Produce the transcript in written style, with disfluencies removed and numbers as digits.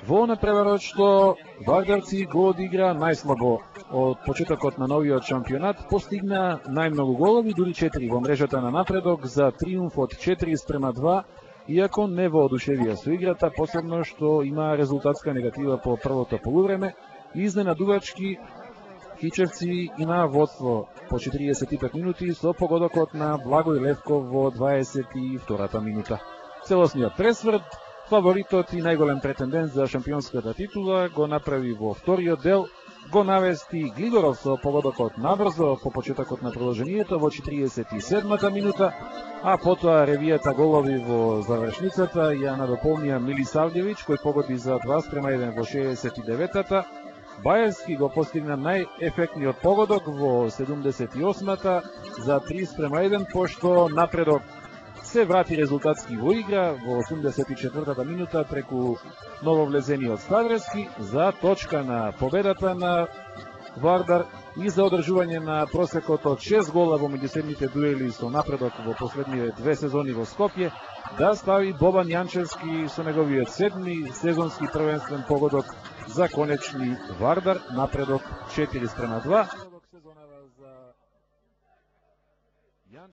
Во напреварот што вардарци го одигра најслабо од почетокот на новиот шампионат, постигна најмногу голови, дури 4 во мрежата на Напредок за триумф од 4:2, иако не воодушевија со играта, посебно што има резултатска негатива по првото полувреме. Изненадувачки Хичевци има водство по 45 минути со погодокот на Благој Левков во 22-та минута. Целосниот пресврт, фаворитот и најголем претендент за шампионската титула го направи во вториот дел, го навести Глигоров со погодокот набрзо по почетокот на продолжението во 47-та минута, а потоа ревијата голови во завршницата ја надополнија Милисављевиќ кој погоди за 2:1 во 69-та. Баевски го постигна најефектниот погодок во 78-та за 3:1, пошто Напредок се врати резултатски во игра во 84-та минута преку нововлезениот Ставрески за точка на победата на Вардар и за одржување на просекот од 6 гола во меѓусебните дуели со Напредок во последниве 2 сезони во Скопје, да стави Бобан Јанчевски со неговиот 7-ми сезонски првенствен погодок за конечни Вардар Напредок 4:2.